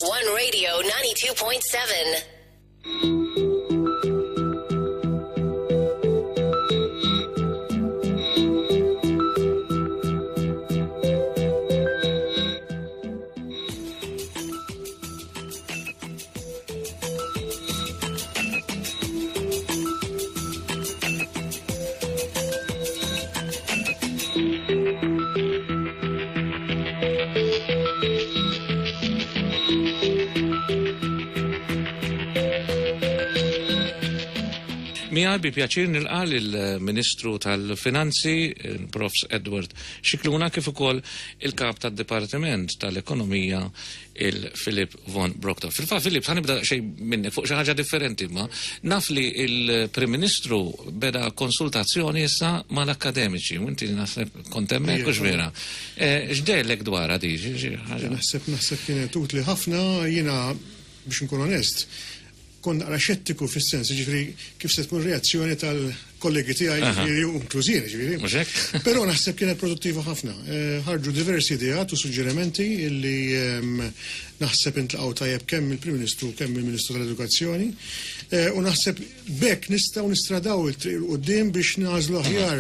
One Radio 92.7. Miegħi bi pjaċir nilqa' lill-Ministru tal-Finanzi, il-Profs Edward Scicluna, kif ukoll il-Kap tad-Dipartiment tal-Ekonomija, il-Philip von Brockdorff. Fil-fatt, Philip, ħa nibda xejn minnek fuq xi ħaġa differenti, imma naf li l-Prim Ministru beda konsultazzjoni issa mal-akkademiċi, u inti naħseb kont hemmhekk, hux vera? Eh, x'dehellek dwarha di? Naħseb naħseb kienet utli ħafna, jiena biex nkun onest, kont naqra xettiku fis-sens, jiġifieri kif se tkun reazzjoni tal-kollegi tiegħi, jiġifieri u inkluż jien, jiġifieri. Mhux hekk? Però naħseb kienet produttiva ħafna. Ħarġu diversi ideat u suġġerimenti li naħseb intlaqgħu tajjeb kemm mill-Prim Ministru u kemm mill-Ministru tal-Edukazzjoni. U naħseb b'hekk nistgħu nistradaw it-triq 'il quddiem biex nagħżlu aħjar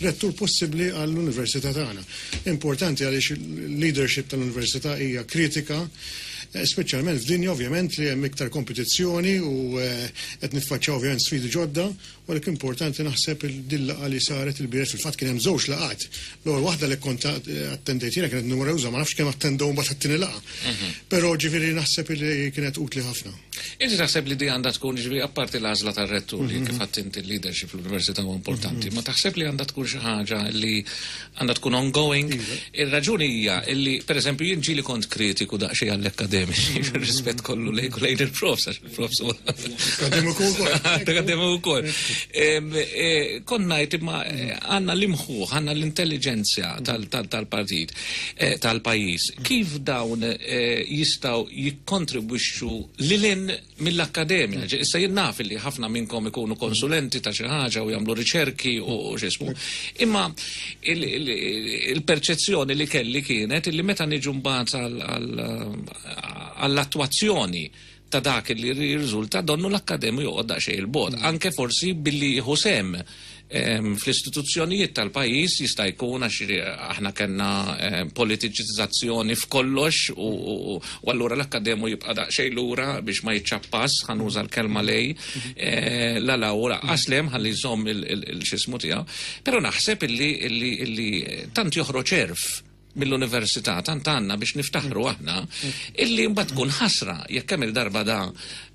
rettur possibbli għall-università tagħna. Importanti għaliex il-leadership tal-università hija kritika, speċjalment f'dinja ovvjament li hemm iktar kompetizzjoni u qed niffaċċjaw ovvjament sfidi ġodda, u għalhekk importanti naħseb din laqgħa li saret ilbieraħ, fil-fatt kien hemm żewġ laqgħat. L-ewwel waħda li kont attendejt jiena kienet numeruża, ma nafx kemm attendew mbagħad għat-tieni laqgħa. Però ġifieri naħseb li kienet utli ħafna. Inti taħseb li di għandha tkun, ġifieri apparti l-għażla tar-rettur li kif għedt inti l-leadership fl-università huwa importanti, ma taħseb li għandha tkun xi ħaġa li għandha tkun ongoing? Ir-raġuni hija li, pereżempju, jien ġieli kont kritiku daqsxejn għall-akkademiċi, fir-rispett kollu lejk u lejn il-profs, għax il-profs huwa. Akkademiku wkoll. Akkademiku wkoll. Kont ngħid imma għandna l-imħuħ, għandna l-intelliġenzja tal-partit, tal-pajjiż. Kif dawn jistgħu jikkontribwixxu lil hinn mill-akkademja? Issa jien naf li ħafna minnkom ikunu konsulenti ta' xi ħaġa u jagħmlu riċerki u x'ismu. Imma il-perċezzjoni li kelli kienet illi meta niġu mbagħad għall-attwazzjoni ta' dak li jirriżulta donnu l-akkademju joqgħod daqsxejn 'il bogħod, anke forsi billi jieħu sehem fl-istituzzjonijiet tal-pajjiż jista' jkun għax aħna kellna politiċizzazzjoni f'kollox u allura l-akkademu jibqa' daqsxejn lura biex ma jiċċappas, ħa nuża l-kelma lej, la 'l hawn u lanqas 'l hemm ħalli jżomm il-x'ismu tiegħu. Però naħseb illi tant joħroġ għerf mill-università tant għandna biex niftaħru aħna illi mbagħad tkun ħasra jekk kemm il-darba da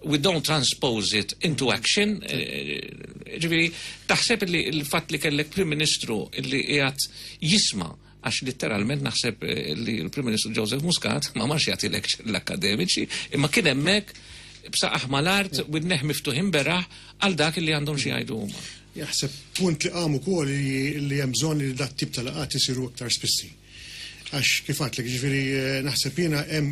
we don't transpose it into action. Ġifieri taħseb illi l-fatt li kellek Prim Ministru illi qiegħed jisma' għax litteralment naħseb li l-Prim Ministru Joseph Muscat ma marx jagħti lecture l-akkademiċi imma kien hemmhekk b'saqajh mal-art u widnejh miftuħin beraħ għal dak illi għandhom xi jgħidu huma. Jaħseb punt li qam ukoll li hemm bżonn li dat tip ta' laqgħat isiru iktar spissi. Għax kif għedtlek, jiġifieri naħseb jiena hemm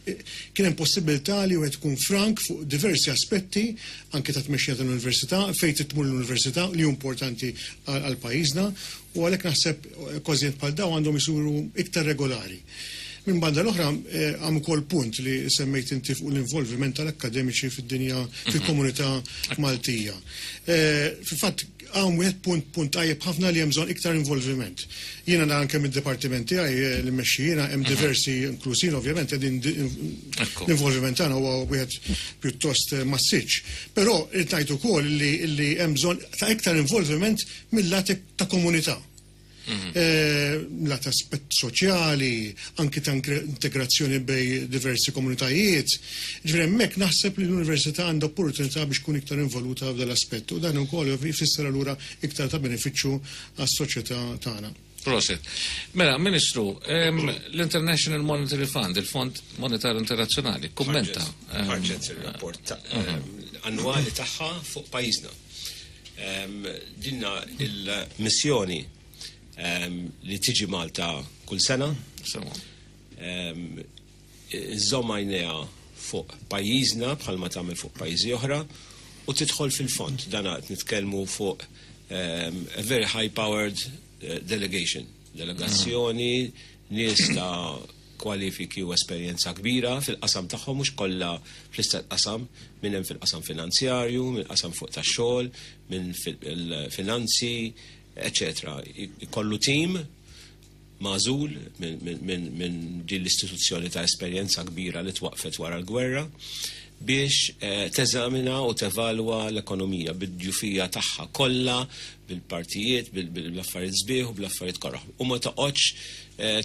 kien hemm possibilità li wieħed ikun frank fuq diversi aspetti anke ta' tmexxija tal-università, fejn trid tmur l-università li hu importanti għal pajjiżna u għalhekk naħseb okkażjonijiet bħal dawn għandhom isiru iktar regolari. Minn banda l-oħra, qam ukoll punt li semmejt inti fuq l-involviment tal-akkademiċi fid-dinja, fil-komunità Maltija. Fil-fatt, hawn wieħed punt, punt tajjeb ħafna li hemm bżonn iktar involviment. Jiena nara anke mid-dipartiment tiegħi li mmexxi jiena hemm diversi, inkluż jien ovvjament, qegħdin l-involviment tagħna huwa wieħed pjuttost massiċċ. Però rrid ngħid ukoll li hemm bżonn ta' iktar involviment mil-lat ta' komunità. Lat aspett soċjali, anki ta' integrazzjoni bej diversi komunitajiet. Ġifieri hemmhekk naħseb li l-università għandha opportunità biex tkun iktar involuta f'dan l-aspett u dan ukoll jfisser allura iktar ta' benefiċċju għas-soċjetà tagħna. Proset. Mela, Ministru, l-International Monetary Fund, il-Fond Monetarju Internazzjonali, kummenta. Ħarġet ir-rapport annwali tagħha fuq pajjiżna. Dinna il-missjoni li tiġi Malta kull sena. Iżżomm għajnejha fuq pajjiżna bħalma tagħmel fuq pajjiżi oħra u tidħol fil-fond. Dan qed nitkellmu fuq a very high powered delegation. Delegazzjoni, nies ta' kwalifiki u esperjenza kbira fil-qasam tagħhom, mhux kollha fl-istess qasam, min hemm fil-qasam finanzjarju, min qasam fuq tax-xogħol, min fil-finanzi, eċetera. Ikollu tim magħżul minn din l-istituzzjoni ta' esperjenza kbira li twaqfet wara l-gwerra biex teżamina u tevalwa l-ekonomija bid-djufija tagħha kollha, bil-partijiet, bil-affarijiet sbieħ u bl-affarijiet koroh. U ma toqgħodx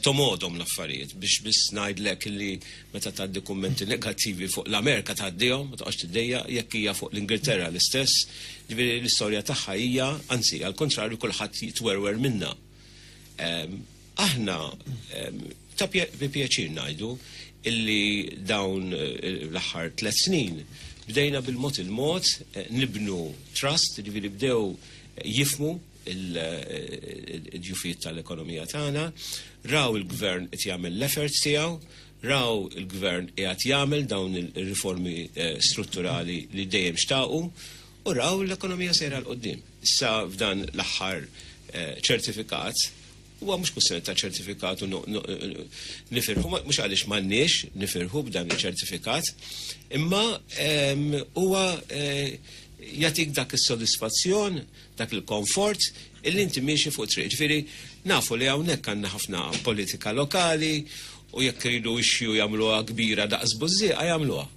tomgħodhom l-affarijiet biex biss ngħidlek li meta tgħaddi kummenti negattivi fuq l-Amerika tgħaddihom, ma toqgħodx tiddejjaq, jekk hija fuq l-Ingilterra l-istess, ġifieri l-istorja tagħha hija, anzi għall-kontrarju kulħadd jitwerwer minnha. Aħna ta' bi pjaċir ngħidu illi dawn l-aħħar 3 snin bdejna bil-mod il-mod nibnu trust, ġifieri bdew jifmu il-djufijiet tal-ekonomija tagħna, raw il-gvern qed jagħmel l-efforts tiegħu, raw il-gvern qiegħed jagħmel dawn il-riformi strutturali li dejjem xtaqu, u raw l-ekonomija sejra 'l quddiem. Issa f'dan l-aħħar ċertifikat, huwa mhux kwistjoni ta' ċertifikat u nifirħu, mhux għaliex m'għandniex nifirħu b'dan iċ-ċertifikat, imma huwa jagħtik dak is-sodisfazzjon, dak il-komfort illi inti miexi fuq triq. Ġifieri nafu li hawnhekk għandna ħafna politika lokali u jekk iridu issue jagħmluha kbira daqs bużżieqa jagħmluha.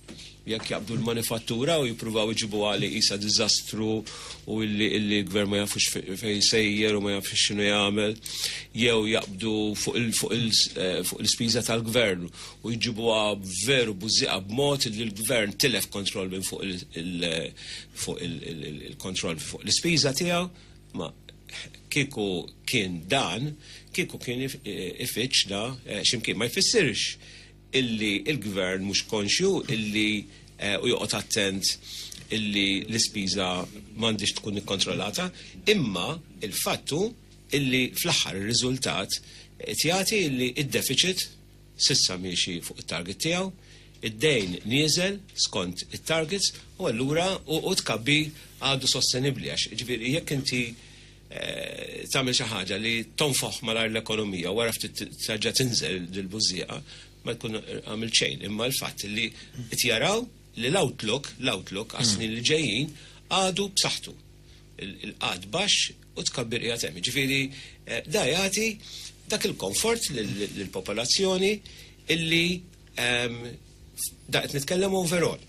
Jekk jaqbdu l-manifattura u jippruvaw iġibuha li qisha diżastru u illi l-gvern ma jafux fejn sejjer u ma jafx x'inhu jagħmel, jew jaqbdu fuq l-ispiża tal-gvern u jġibuha veru bużżieqa b'mod li l-gvern tilef kontroll minn fuq il-kontroll fuq l-ispiża tiegħu. Ma kieku kien dan, kieku kien ifittx da x'imkien. Ma jfissirx illi il-gvern mhux konxju illi u joqgħod attent illi l-ispiża m'għandix tkun ikkontrollata, imma il-fattu illi fl-aħħar ir-riżultat qed jagħti illi id-deficit sissa miexi fuq it-target tiegħu, id-dejn nieżel skont it-targets, u allura u tkabbir għadu sostenibbli, għax ġifieri jekk inti tagħmel xi ħaġa li tonfoħ malajr l-ekonomija wara ftit terġa' tinżel dil-bużżieqa, ma jkun għamil xejn, imma l-fatt li qed jaraw li l-outlook għas-snin li ġejjin għadu b'saħħtu. Il-qgħad baxx u tkabbir qiegħed hemm. Ġifieri da jagħti dak il-komfort lill-popolazzjoni illi da qed nitkellem overall.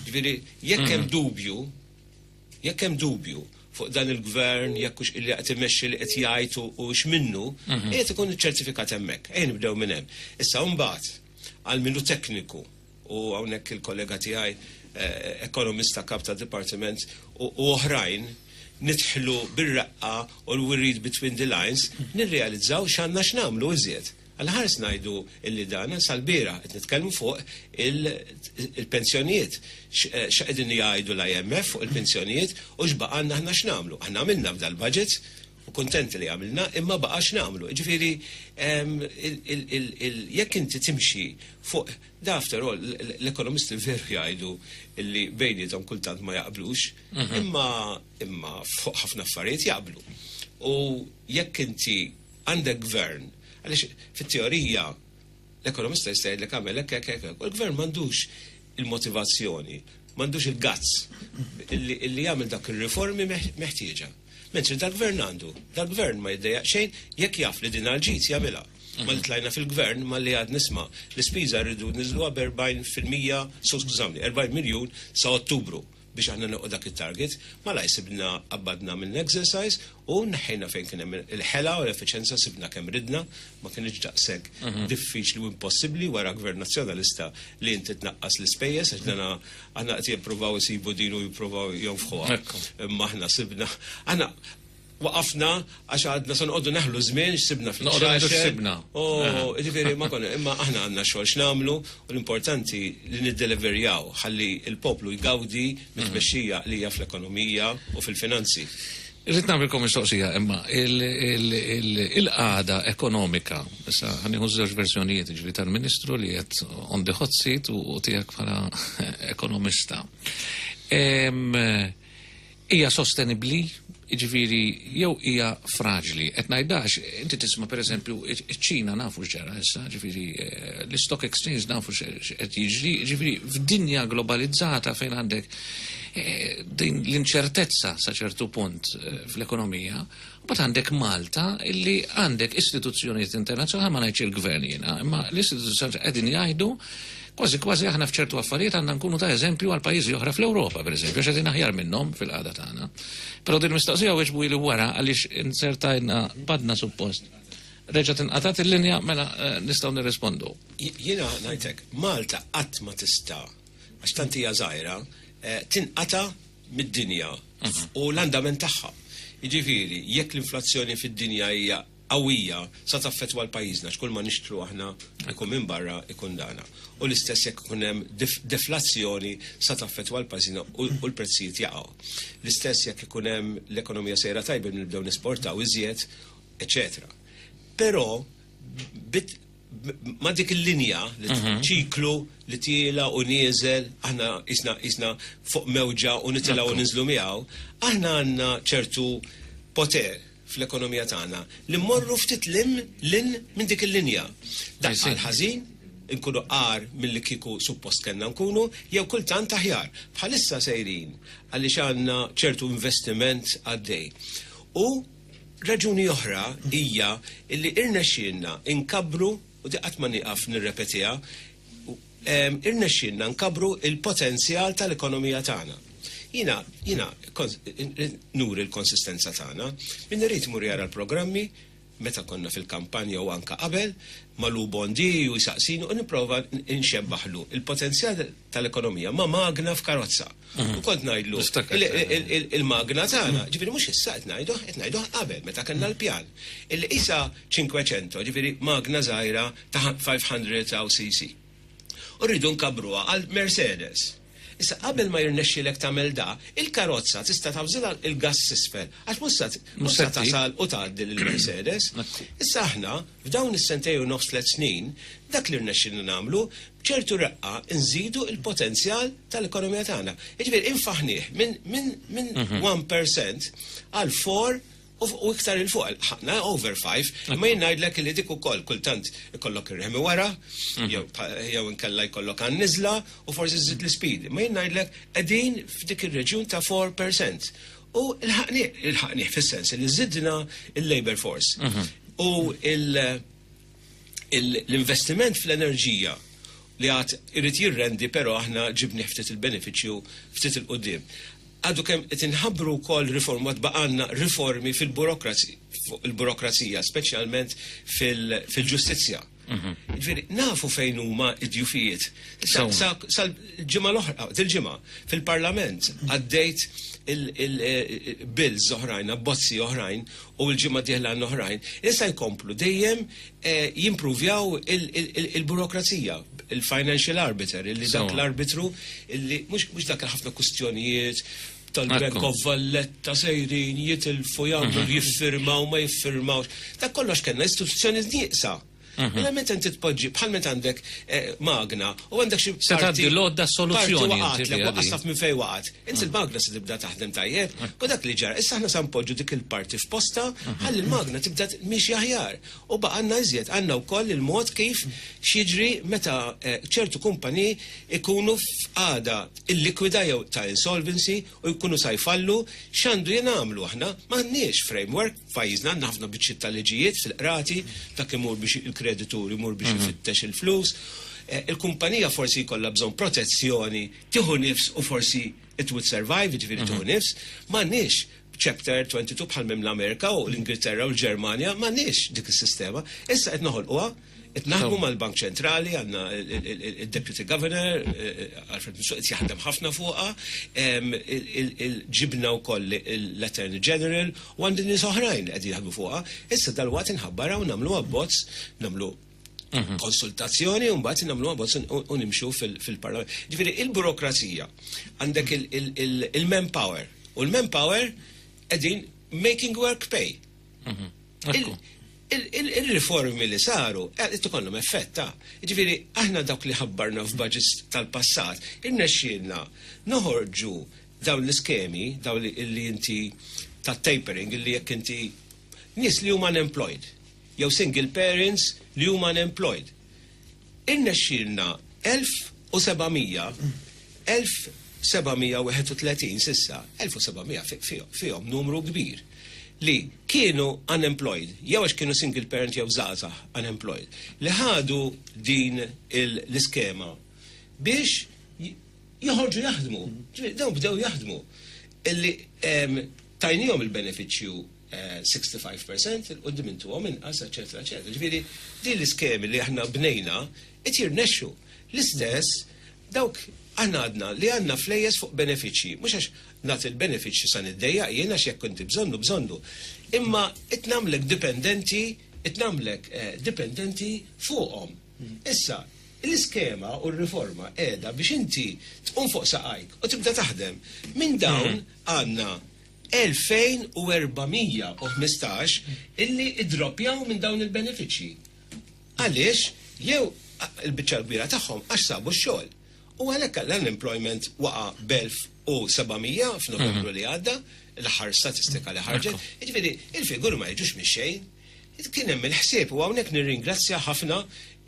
Ġifieri jekk hemm dubju, jekk hemm dubju fuq dan il-gvern, jekk hux illi qed imexxi li qed jgħid u x'minnu, qiegħed ikun iċċertifikat hemmhekk. Ejja nibdew minn hemm. Issa mbagħad għal minnu tekniku, u hawnhekk il-kollega tiegħi ekonomista kap ta' dipartiment u oħrajn nidħlu bir-raqqa u we read between the lines, nirrealizzaw x'għandna x'nagħmlu iżjed. Għal-ħares ngħidu illi dan sal-bieraħ qed nitkellmu fuq il-pensjonijiet. X'qegħdin jgħidu l-IMF fuq il-pensjonijiet u x'baqgħalna aħna x'nagħmlu. Aħna għamilna f'dal-budget u kontenti li għamilna, imma baqa' x'nagħmlu. Ġifieri, jekk inti timxi fuq da, after all, l-ekonomisti veru jgħidu illi bejniethom kultant ma jaqblux, imma fuq ħafna affarijiet jaqblu. U jekk inti għandek gvern, għaliex fit-teorija l-ekonomista jista' jgħidlek għamel hekk, hekk, hekk, u l-gvern m'għandux il-motivazzjoni, m'għandux il-guts illi jagħmel dak ir-riformi meħtieġa. Mentri dal-gvern għandu, dal-gvern ma jiddejjaq xejn jekk jaf li din għal-ġid jagħmilha. Ma li tlajna fil-gvern ma li għad nisma' l-ispiża rridu niżluha b'erbgħin fil-mija, so skużawni, 40 miljun sa Ottubru biex aħna nilħqu dak it-target, ma la jsibna qabbadna minn exercise u neħħejna fejn kien hemm il-ħela u l-effiċenza, sibna kemm ridna, ma kienx daqshekk diffiċli u impossibbli wara gvern nazzjonalista li inti tnaqqas l-ispejjeż, għax dana aħna qed jippruvaw isibu din u jippruvaw jonfħuha. Imma aħna sibna, aħna waqafna għax għadna se noqogħdu neħlu żmien x'sibna fil- Noqogħdu ngħidu xaxer. x'sibna. Oh, ġifieri ma konna, imma aħna għandna xogħol x'nagħmlu u l-importanti li niddeliverjaw ħalli l-poplu jgawdi mit-tmexxija li hija fl-ekonomija u fil-finanzi. Irrid nagħmilkom mistoqsija, imma il-qagħda ekonomika, issa ħa nieħu żewġ verżjonijiet, ġifieri tal-Ministru li qed on the hot seat u tiegħek bħala ekonomista. Hija sostenibbli, jiġifieri jew hija fraġli? Qed ngħidax, inti tisma' pereżempju iċ-Ċina nafu x'ġara issa, ġifieri l-istock exchange nafu x'qed jiġri, ġifieri f'dinja globalizzata fejn għandek din l-inċertezza sa ċertu punt fl-ekonomija, mbagħad għandek Malta illi għandek istituzzjonijiet internazzjonali, ma ngħidx il-gvern jiena, imma l-istituzzjonijiet qegħdin jgħidu kważi kważi aħna f'ċertu affarijiet għandna nkunu ta' eżempju għal pajjiżi oħra fl-Ewropa, pereżempju, għax qegħdin aħjar minnhom fil-qagħda tagħna. Però din mistoqsija weġbu li wara għaliex insertajna badna suppost. Reġa' tinqatat il-linja mela nistgħu nirrispondu. Jiena ngħidlek, Malta qatt ma tista' għax tant hija żgħira, tinqata' mid-dinja u l-andament tagħha. Jiġifieri, jekk l-inflazzjoni fid-dinja hija qawwija sa taffettwa l-pajjiżna x'kull ma nixtru aħna ikun minn barra ikun dana. U l-istess jekk ikun hemm deflazzjoni sa taffettwa l-pajjiżna u l-prezzijiet jaqgħu. L-istess jekk ikun hemm l-ekonomija sejra tajba nibdew nesportaw iżjed, eċetera. Però ma dik il-linja li ċiklu li tiela u nieżel, aħna isna fuq mewġa u nitilgħu u ninżlu miegħu, aħna għandna ċertu poter fl-ekonomija tagħna li mmorru ftit lim lin minn dik il-linja. Daqqa l-ħażin, nkunu qar milli kieku suppost kellna nkunu, jew kultant aħjar. Bħalissa sejrin għaliex għandna ċertu investiment għaddej. U raġuni oħra hija illi irnexxielna inkabru, u di qatt ma nieqaf nirrepetiha, irnexxielna nkabru il-potenzjal tal-ekonomija tagħna. Jiena nuri l-konsistenza tagħna, min irid imur jara l-programmi meta konna fil-kampanja u anka qabel, malu Bondi u jisaqsini u nipprova nxebbaħlu il-potenzjal tal-ekonomija ma' magna f'karozza. U kont ngħidlu il-magna tagħna, ġifieri mhux issa qed ngħidu, qed ngħidu qabel meta kellna l-pjan. Illi isa 500, ġifieri magna żgħira ta' 500 cc. U rridu nkabruha għal Mercedes. Issa qabel ma jirnexxilek tagħmel da, il-karozza tista' tawżilha il-gas isfel, għax mhux se tasal u tgħaddi lill-Mercedes. Issa aħna f'dawn is-sentejn u nofs 3 snin, dak li rnexxilna nagħmlu b'ċertu reqqa nżidu il-potenzjal tal-ekonomija tagħna. Jiġifieri infaħnieh minn 1% għal 4 u iktar il fuq, ħana over 5, ma jien ngħidlek li dik ukoll kultant ikollok ir-remi wara, jew inkella jkollok għan-niżla u forsi żżid l-speed. Ma jien ngħidlek qegħdin f'dik ir-reġjun ta' 4%. U il-ħaqni fis-sens li żidna il-labor force. U l-investiment fl-enerġija li għad irid jirrendi, però aħna ġibni ftit il-benefiċċju ftit il-qudiem. Għadu kemm qed inħabbru wkoll riforma baqgħanna riformi fil-burokrazija, speċjalment fil-ġustizzja. Ġifieri, nafu fejn huma id-djufijiet. Sal-ġimgħa l-oħra, dil-ġimgħa, fil-Parlament għaddejt il-bills oħrajn, abbozzi oħrajn u l-ġimgħa dieħla oħrajn, issa jkomplu dejjem jimpruvjaw il-burokrazija, il-financial arbiter, illi dak l-arbitru, illi mhux dak ħafna kustjonijiet tal-Bank of Valletta sejrin jitilfu jagħmlu jiffirmaw ma jiffirmawx. Dak kollox kellna istituzzjoni nieqsa. Mela meta inti tpoġġi bħal meta għandek magna u għandek xi Se tgħaddi l-għodda soluzzjoni parti inti waqgħatlek, fiha waqgħat di. taf minn fejn waqgħat. Inti l-magna se tibda taħdem tajjeb, u dak li ġara. Issa aħna sa npoġġu dik il-parti f'posta ħalli l-magna tibda miexi aħjar. U baqgħanna iżjed, għandna wkoll il-mod kif x'jiġri meta ċertu kumpaniji ikunu f'qagħda illikwida jew ta' insolvency u jkunu sa jfallu, x'għandu jingħamlu aħna m'għandniex framework f'pajjiżna, għandna ħafna biċċiet ta' liġijiet fil-qrati, dak imur biex il-kreditur imur biex ifittex il-flus. Il-kumpanija forsi jkollha bżonn protezzjoni, tieħu nifs u forsi it would survive, jiġifieri tieħu nifs. M'għandniex chapter 22 bħal minn l-Amerika u l-Ingilterra u l-Ġermanja, m'għandniex dik is-sistema. Issa qed noħolquha, qed naħdmu mal-Bank Ċentrali, għandna il-Deputy Governor, Alfred Mifsud, qed jaħdem ħafna fuqha, ġibna wkoll l-Attorney General u għandi nies oħrajn li qegħdin jaħdmu fuqha. Issa dalwaqt inħabbara u nagħmlu abbozz, nagħmlu konsultazzjoni u mbagħad nagħmlu abbozz u nimxu fil-Parlament. Ġifieri il-burokrazija, għandek il-manpower u l-manpower qegħdin making work pay. Il-riformi li saru, qed ikollhom effett ta'. Ġifieri aħna dawk li ħabbarna f'budgets tal-passat, irnexxielna noħorġu Dawn l-iskemi, dawn li inti ta' tapering, li jekk inti nies li huma unemployed, jew single parents li huma unemployed. Irnexxielna 1700, 1731 s'issa, 1700 fihom numru kbir li kienu unemployed, jew għax kienu single parent jew żgħażagħ unemployed, li ħadu din l-iskema biex joħorġu jaħdmu. Ġifieri dawn bdew jaħdmu. Illi tajnihom il-benefiċċju 65%, il-qoddim intuhom inqas, eċetera, eċetera. Ġifieri din l-iskemi li aħna bnejna qed jirnexxu. L-istess dawk aħna għadna li għandna flejjes fuq benefiċċji, mhux għax nagħti l-benefiċċji sa niddejjaq jien, għax jekk inti bżonnu bżonnu. Imma qed nagħmlek dipendenti, qed nagħmlek dipendenti fuqhom. Issa, l-iskema u r-riforma qiegħda biex inti tqum fuq saqajk u tibda taħdem. Minn dawn għandna 2415 illi idroppjaw minn dawn il-benefiċċji. Għaliex? Jew il-biċċa l-kbira tagħhom għax sabu x-xogħol. U għalhekk l-unemployment waqa' b'1700 f'Novembru li għadda, l-aħħar statistika li ħarġet. Jiġifieri il-figuri ma jiġux mix-xejn. Kien hemm il-ħsieb u hawnhekk nirringrazzja ħafna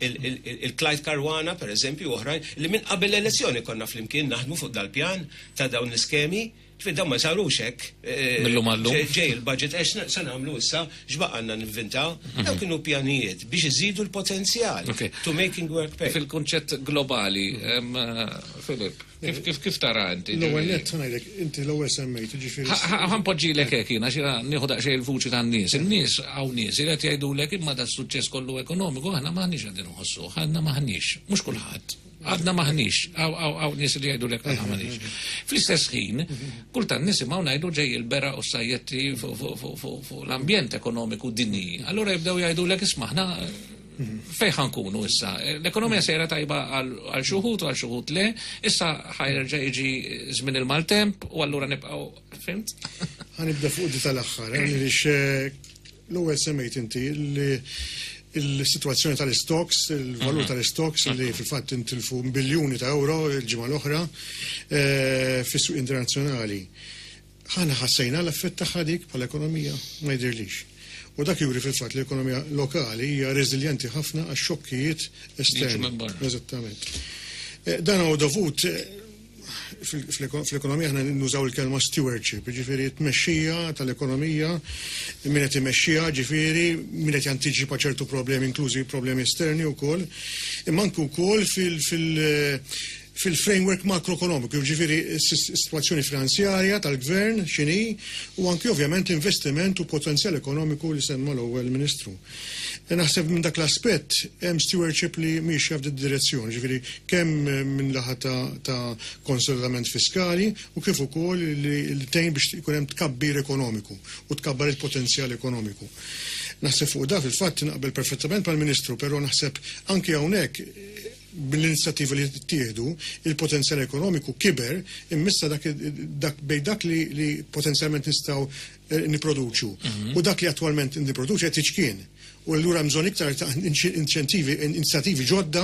il-Clyde Caruana, per eżempju, oħrajn, li minn qabel l-elezzjoni konna flimkien naħdmu fuq dal-pjan ta' dawn l-iskemi. Ġifieri dawn ma sarux hekk. Millum għallum. Ġej il-budget, għax se nagħmlu issa, x'baqgħalna ninventaw. Dawn kienu pjanijiet biex iżidu l-potenzjal to making work pay. Fil-kunċett globali, Filip, kif tara inti? L-ewwel nett ngħidlek, inti l-ewwel semmejt, ġifieri. Ħa npoġġilek hekk jiena, xi nieħu daqsxejn il-vuċi tan-nies. In-nies hawn nies li qed jgħidulek imma da suċċess kollu ekonomiku aħna m'aħniex qegħdin inħossuh, aħna m'aħniex, mhux kulħadd. Għadna m'aħniex, hawn nies li jgħidulek aħna m'aħniex. Fl-istess ħin, kultant nisimgħu ngħidu ġej il-bera u sajjetti fuq l-ambjent ekonomiku dinji. Allura jibdew jgħidulek isma' aħna fejn ħa nkunu issa? L-ekonomija sejra tajba għal xi wħud u għal xi wħud le, issa ħa jerġa' jiġi żmien il-maltemp u allura nibqgħu, fhimt? Ħa nibda fuq di tal-aħħar, għaliex l-ewwel semmejt inti li il-situazzjoni tal-stocks, il-valur tal-stocks li fil-fatt intilfu biljuni ta' euro il-ġimgħa l-oħra fis-suq internazzjonali. Aħna ħassejna l-effett tagħha dik bħala ekonomija, ma jidhirlix. U dak juri fil-fatt li l-ekonomija lokali hija reżiljenti ħafna għax xokkijiet esterni. Eżattament. Dan huwa dovut fl-ekonomija aħna nużaw il-kelma stewardship, ġifieri tmexxija tal-ekonomija, min qed imexxija, ġifieri min qed jantiċipa ċertu problemi, inklużi problemi esterni wkoll, imma anke wkoll fil-framework makroekonomiku, ġifieri s-situazzjoni finanzjarja tal-gvern x'inhi, u anke ovvjament l-investiment u potenzjal ekonomiku li semma l-ewwel Ministru. Naħseb minn dak l-aspett hemm stewardship li miexja f'din direzzjoni, ġifieri kemm minn laħa ta' konsolidament fiskali u kif ukoll li tgħin biex ikun hemm tkabbir ekonomiku u tkabbar il-potenzjal ekonomiku. Naħseb fuq da fil-fatt naqbel perfettament mal-Ministru, però naħseb anke hawnhekk bil-inizjattivi li ttieħdu, il-potenzjal ekonomiku kiber, immissa dak bej dak li potenzjalment nistgħu niproduċu u dak li attualment niproduċu qed jiċkien. U allura bżonn iktar ta' inċentivi, inizjattivi ġodda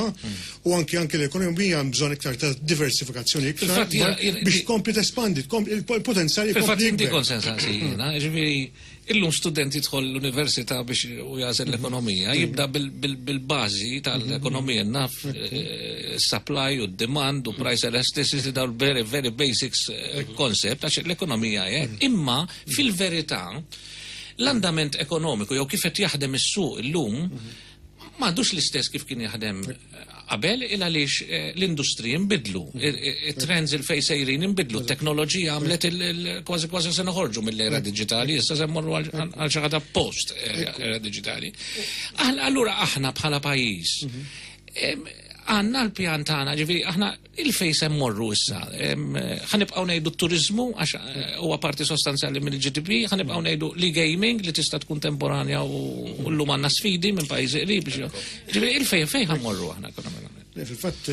u anke l-ekonomija bżonn iktar ta' diversifikazzjoni iktar Fil-fatt, biex tkompli tespandi, tkompli il-potenzjal Fil-fatt jkompli inti jikber. konsens jiena, ġifieri illum student jidħol l-università biex u jagħżel l-ekonomija, jibda bil-bażi tal-ekonomija, naf supply u demand u price elasticity, dawn very, very basics concept, għax l-ekonomija hekk. Imma fil-verità l-andament ekonomiku jew kif qed jaħdem is-suq illum m'għadux l-istess kif kien jaħdem qabel, il għaliex l-industriji nbidlu, it-trends il-fej sejrin nbidlu, t-teknoloġija għamlet kważi kważi se noħorġu mill-era digitali, issa se mmorru għal xi ħaġa post era digitali. Allura aħna bħala pajjiż, għandna l-pjan tagħna, ġifieri aħna il-fej se mmorru issa. Ħa nibqgħu ngħidu t-turizmu għax huwa parti sostanzjali mill-GDP, ħa nibqgħu ngħidu li gaming li tista' tkun temporanja u llum għandna sfidi minn pajjiżi qrib biex ġifieri il-fej fejn ħa mmorru aħna ekonomikament. Le, fil-fatt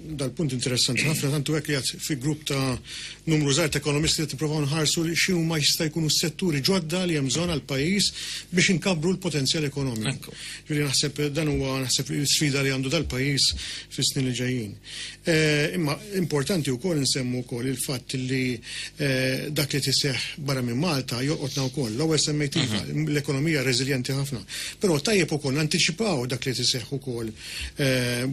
Dal-punt interessanti ħafna, tantu hekk li għad fi grupp ta' numru żgħir ta' ekonomisti qed nippruvaw nħarsu li x'huma jista' jkunu s-setturi ġodda li hemm bżonn għall-pajjiż biex inkabbru l-potenzjal ekonomiku. Ġifieri naħseb dan huwa naħseb l-isfida li għandu dal-pajjiż fis-snin li ġejjin. Imma importanti wkoll insemmu wkoll il-fatt li dak li tiseħħ barra minn Malta jolqotna wkoll. L-ewwel semmejt iva, l-ekonomija reżiljenti ħafna. Però tajjeb ukoll nantiċipaw dak li tiseħħ ukoll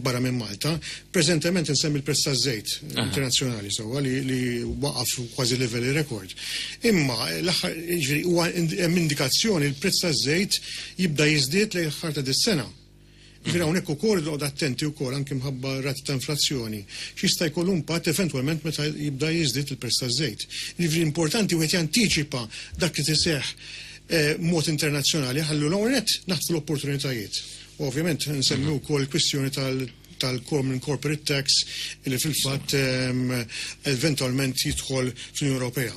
barra minn Malta. Preżentement insemmi l-prezz taż-żejt internazzjonali sewwa li waqaf kważi livelli rekord. Imma l-aħħar jiġifieri huwa hemm indikazzjoni l-prezz taż-żejt jibda jiżdied lejn l-aħħar ta' dis-sena. Jiġifieri hawnhekk ukoll noqgħod attenti wkoll anki mħabba rati ta' inflazzjoni x'jista' jkollu impatt eventwalment meta jibda jiżdied il-prezz taż-żejt. Jiġifieri importanti wieħed jantiċipa dak li tiseħħ mod internazzjonali ħallu l-ewwel nett naħtfu l-opportunitajiet. U ovvjament nsemmi wkoll il-kwistjoni tal-Common Corporate Tax li fil-fatt eventwalment jidħol fl-Unjoni Ewropea.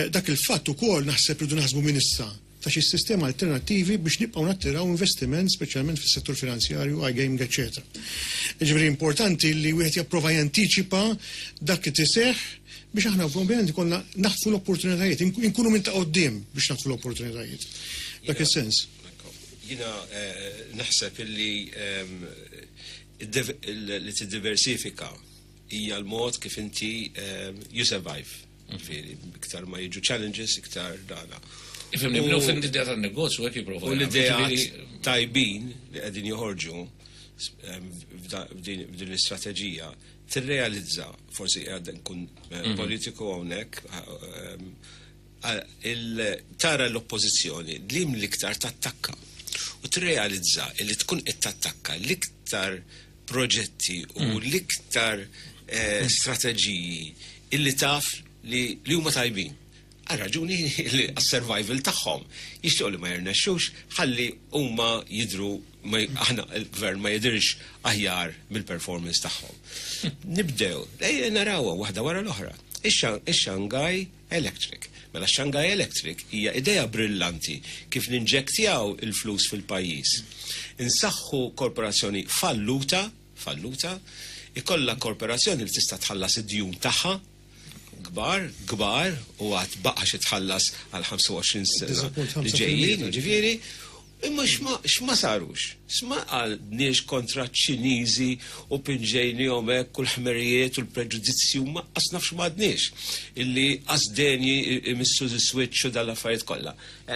Dak il-fatt ukoll naħseb rridu naħsbu minn issa ta' xi sistema alternattivi biex nibqgħu nattiraw investiment speċjalment fis-settur finanzjarju, iGaming, eċċetera. Jiġifieri importanti li wieħed japprova jantiċipa dak li tiseħħ biex aħna ovvjament ikollna naħtfu l-opportunitajiet, inkunu minn ta' quddiem biex naħtfu l-opportunitajiet. Dak is-sens. Jiena naħseb illi li tiddiversifika hija l-mod kif inti you survive. Ġifieri, iktar ma jiġu challenges, iktar dana. Ifhimni, nibnu fin l-idea tan-negozju hekk jipprova. U l-idea tajbin li qegħdin joħorġu f'din l-istrateġija tirrealizza, forsi għad nkun politiku hawnhekk, tara l-oppożizzjoni li l-iktar tattakka u tirrealizza li tkun qed tattakka l-iktar proġetti u l-iktar strateġiji illi taf li huma tajbin. Għal raġuni li għas-survival tagħhom jixtiequ li ma jirnexxux ħalli huma jidru aħna il-gvern ma jidirx aħjar mill-performance tagħhom. Nibdew, ejja narawha waħda wara l-oħra. Ix-Shanghai Electric. Mela Shanghai Electric hija idea brillanti kif ninġektjaw il-flus fil-pajjiż. Insaħħu korporazzjoni falluta, falluta, ikollha korporazzjoni li tista' tħallas id-djun tagħha, kbar, kbar, u għad baqa xi tħallas għal 25 sena li ġejjin, ġifieri, imma x'ma sarux? X'ma għandniex kontra ċ-Ċiniżi u pinġejnihom hekk u l-ħmerijiet u l-preġudizzju ma qas nafx m'għadniex illi qas denji imissu switch u dal-affarijiet kollha.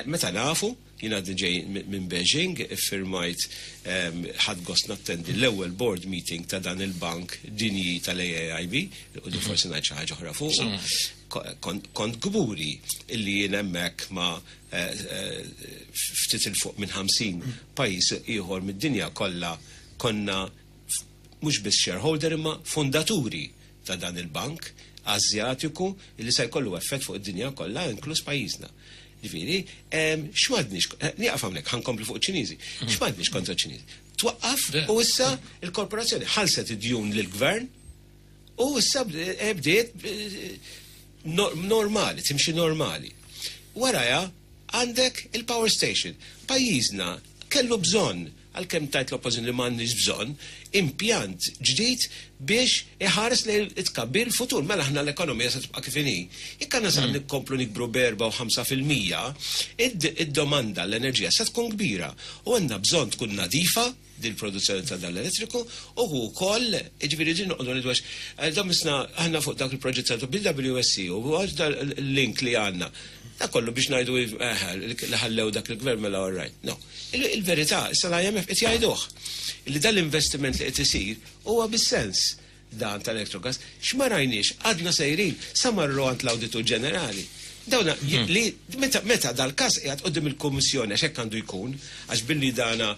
Meta nafu, jien għadni ġej minn Beijing, iffirmajt, ħadt gost nattendi l-ewwel board meeting ta' dan il-bank dinji tal-AIIB, u di forsi ngħid xi ħaġa oħra fuq. Kont kburi illi jien hemmhekk ma' ftit il fuq minn 50 pajjiż ieħor mid-dinja kollha konna mhux biss shareholder imma fondaturi ta' dan il-bank Azjatiku li se jkollu effett fuq id-dinja kollha, inkluż pajjiżna. Ġifieri, x'm'għadniex, nieqaf hawnhekk, ħa nkompli fuq iċ-Ċiniżi. X'm'għadniex kontra ċ-Ċiniżi? Twaqqaf u issa il-korporazzjoni ħallset id-djun lill-gvern u issa bdiet normali, timxi normali. Waraja għandek il-power station. Pajjiżna kellu bżonn, għalkemm tajt l-oppożizzjoni li m'għandniex bżonn, impjant ġdid biex iħares lejn it-tkabbir futur. Mela aħna l-ekonomija se tibqa' kif inhi. Jekk għandna sa nkomplu nikbru b'4 u 5%, id-domanda l-enerġija se tkun kbira u għandna bżonn tkun nadifa dil-produzzjoni ta' dan l-elettriku u wkoll, ġifieri din noqogħdu nidwax, dan misna aħna fuq dak il-proġett ta' BWSC u l-link li għandna. Da kollu biex ngħidu li ħallew dak il-gvern, mela all right. No. Il-verità, issa l-IMF qed jgħiduh li dal-investiment li qed isir huwa bis-sens dan tal-Electrogas, x'ma rajniex, għadna sejrin, sa marru għand l-Awditur Ġenerali. Dawna li meta dal-każ qiegħed quddiem il-Kummissjoni, għax hekk għandu jkun, għax billi dana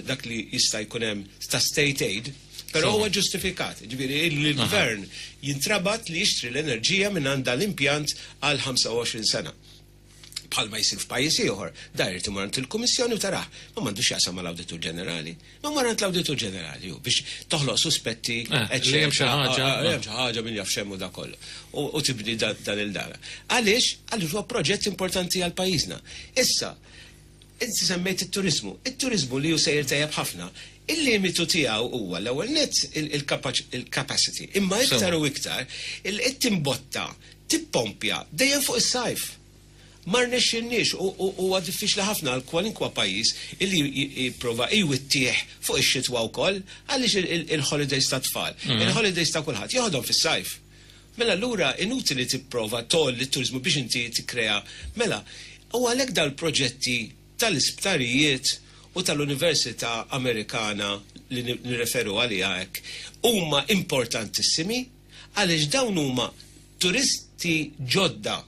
dak li jista' jkun hemm ta' state aid, però huwa ġustifikat. Ġifieri il-gvern jintrabat li jixtri l-enerġija minn għand l-impjant għal 25 sena. Bħalma jsir f'pajjiż ieħor, dar irid imur għand il-Kummissjoni u tarah, ma m'għandux jaqsam mal-Awditur Ġenerali. Ma mar għand l-Awditur Ġenerali hu biex toħloq suspetti, li hemm xi ħaġa. Li hemm xi ħaġa, min jaf x'hemm u da kollu. U tibni dan il-dara. Għaliex? Għaliex huwa proġett importanti għal pajjiżna. Issa, inti semmejt it-turizmu. It-turizmu li hu sejjer tajjeb ħafna. Il-limitu tiegħu huwa l-ewwel nett il-capacity, imma iktar u iktar il-timbotta, tippompja dejjem fuq is-sajf. Ma rnexxinniex u huwa diffiċli ħafna għal kwalinkwa pajjiż illi jipprova jwittih fuq ix-xitwa wkoll għaliex il-holidays tat-tfal, il-holidays ta' kulħadd joħodhom fis-sajf. Mela allura inutili tipprova tgħolli t-turiżmu biex inti tikkrea. Mela, u għalhekk dal-proġetti tal-isptarijiet u tal-Università Amerikana li nirreferu għaliha hekk huma importantissimi għaliex dawn huma turisti ġodda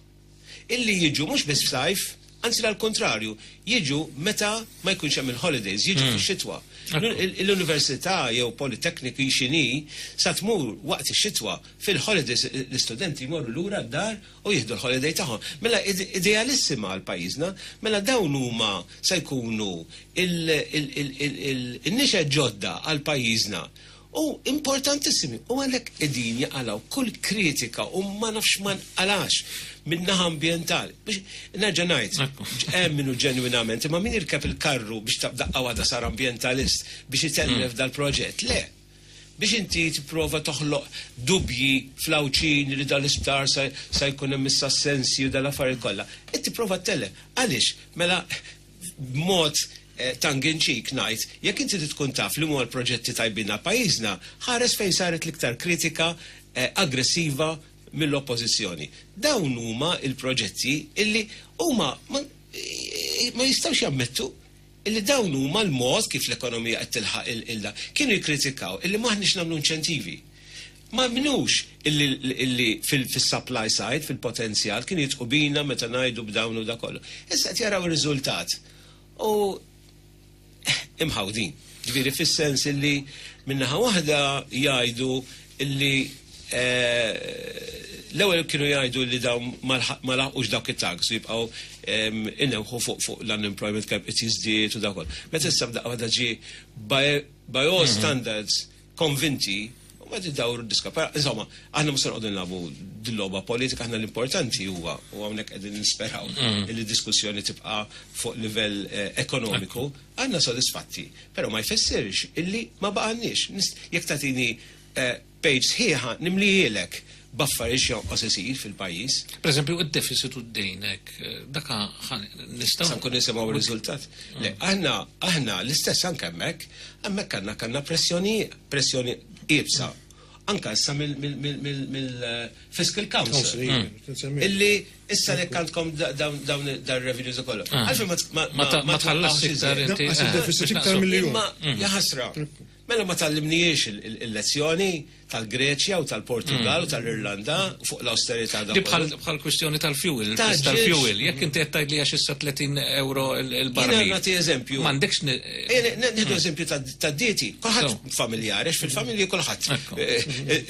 illi jiġu mhux biss f'sajf, anzi għall-kontrarju, jiġu meta ma jkunx hemm il-holidays, jiġu fix-xitwa. L-università jew Polytechnic x'inhi sa tmur waqt ix-xitwa fil-holidays l-istudenti jmorru lura d-dar u jieħdu l-holiday tagħhom. Mela idealissima għal pajjiżna, mela dawn huma se jkunu il-nixa ġodda għal pajjiżna. U importantissimi, u għalhekk qegħdin jaqalgħu kull kritika u ma nafx ma nqalax min-naħa ambjentali. Biex nerġa' ngħid, hemm minnu ġenwinament, imma min jirkeb il-karru biex daqqa waħda sar ambjentalist biex itellef dal-proġett, le. Biex inti tipprova toħloq dubji fl-Għawdxin li dal-isptar sa jkun hemm issa sensi u dal-affarijiet kollha. Qed tipprova ttellef. Għaliex? Mela b'mod tongue-in-cheek ngħid, jekk inti tkun taf li huma l-proġetti tajbin għal pajjiżna, ħares fejn saret l-iktar kritika aggressiva mill-oppożizzjoni. Dawn huma il-proġetti illi huma ma jistgħux jammettu illi dawn huma l-mod kif l-ekonomija qed tilħaq il-da. Kienu jikkritikaw illi m'aħniex nagħmlu inċentivi. Ma minux illi fil-supply side, fil-potenzjal, kienu jidħku bina meta ngħidu b'dawn u da kollu. Issa qed jaraw ir-riżultat. U imħawdin. Ġifieri fis-sens illi minnaħa waħda jgħidu illi l-ewwel kienu jgħidu li dawn ma laħqux dawk it-tags u jibqgħu inewħu fuq l-unemployment kemm qed jiżdied u dak kollu. Meta issa b'daqqa waħda ġie by all standards konvinti u ma tidawru d-diska. Però, insomma, aħna mhux se noqogħdu nilagħbu dil-logħba politika, aħna l-importanti huwa u hawnhekk qegħdin nisperaw li d-diskussjoni tibqa' fuq livell ekonomiku, aħna sodisfatti, però ma jfissirx illi ma baqgħanniex. Jekk tagħtini page sħiħa nimlijielek b'affarijiet jonqos isir fil-pajjiż. Per eżempju, id-deficit u d-dejnek, daka nistgħu. Sa nkun nisimgħu r-riżultat. Le, aħna l-istess anke hemmhekk, hemmhekk għandna kellna pressjoni iebsa. Anka issa mill-Fiscal Council. Illi issa li għandkom dawn dar revenues ukoll. Għalfejn ma tħallas iktar inti. Deficit iktar mill-jum. Imma jaħasra. Mela ma tgħallimniex il-lezzjoni tal-Greċja u tal-Portugal u tal-Irlanda fuq l-austerità da. Bħal kwistjoni tal-fuel, tal-fuel, jekk inti qed tgħid li għax issa 30 euro il-barmil. Jiena nagħti eżempju. M'għandekx Nieħdu eżempju tad-dieti. Kulħadd familjari, għax fil-familji kulħadd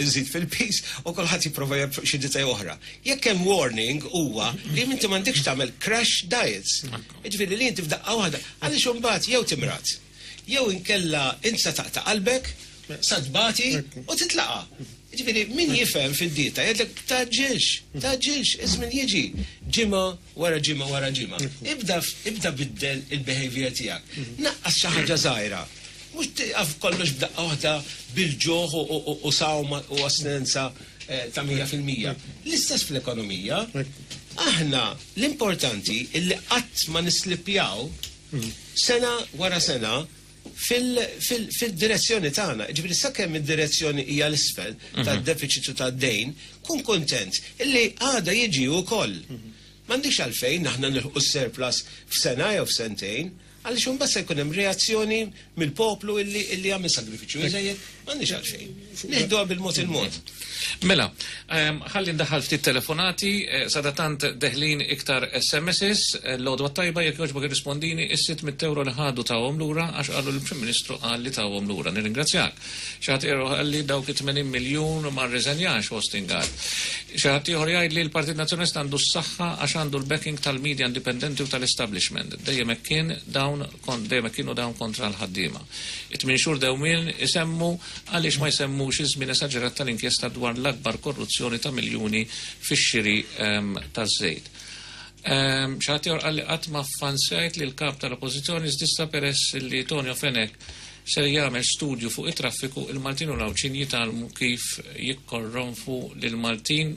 iżid fil-pis u kulħadd jipprova xi dieta oħra. Jekk hemm warning huwa li inti m'għandekx tagħmel crash diets. Jiġifieri li inti f'daqqa waħda għaliex imbagħad jew timrad, jew inkella int sa taqta' qalbek, sa tbati u titlaqa. Ġifieri, min jifhem fid-dieta jgħidlek tgħaġġilx, tgħaġġilx, iż-żmien jiġi ġimgħa wara ġimgħa wara ġimgħa. Ibda biddel il-behavior tiegħek. Naqqas xi ħaġa żgħira. Mhux tieqaf kollox b'daqqa waħda bil-ġuħ u sawma u astinenza ta' 100%. L-istess fl-ekonomija, aħna l-importanti illi qatt ma nislipjaw sena wara sena fil-direzzjoni tagħna. Ġifieri sakemm id-direzzjoni hija l-isfel tad-deficit u tad-dejn, kun kontent illi għada jiġi wkoll. M'għandix għalfejn aħna nilħqu surplus f'sena jew f'sentejn, għaliex imbagħad se jkun hemm reazzjoni mill-poplu illi għamel sagrifiċċju iżejjed, m'għandix għalfejn. Nieħduha bil-mod il-mod. Mela, ħalli ndaħħal ftit telefonati, sadatant deħlin iktar SMSs, l-għodwa tajba jekk jogħġbok irrispondini is-600 euro li ħadu tawhom lura għax qalu l-Prim Ministru qal li tawhom lura. Nirringrazzjak. Xi ħadd ieħor qal li dawk it-80 miljun ma rriżenjax Austin Gatt. Xi ħadd ieħor jgħid li l-Partit Nazzjonalista għandu s-saħħa għax għandu l-backing tal-media indipendenti u tal-establishment. Dejjem hekk kien dawn dejjem hekk kienu dawn kontra l-ħaddiema. It-tmien xhur dewmien isemmu għaliex ma jsemmux iż-żmien esaġerat tal-inkjesta dwar l-akbar korruzzjoni ta' miljuni fix-xiri taż-żejt. Xi ħadd ieħor qal li qatt ma ffansjajt li l-kap tal-Oppożizzjoni żdissa peress li Tonio Fenech ser jagħmel studju fuq it-traffiku, il-Maltin u l-Għawdxin jitgħallmu kif jikkorronfu lill-Maltin,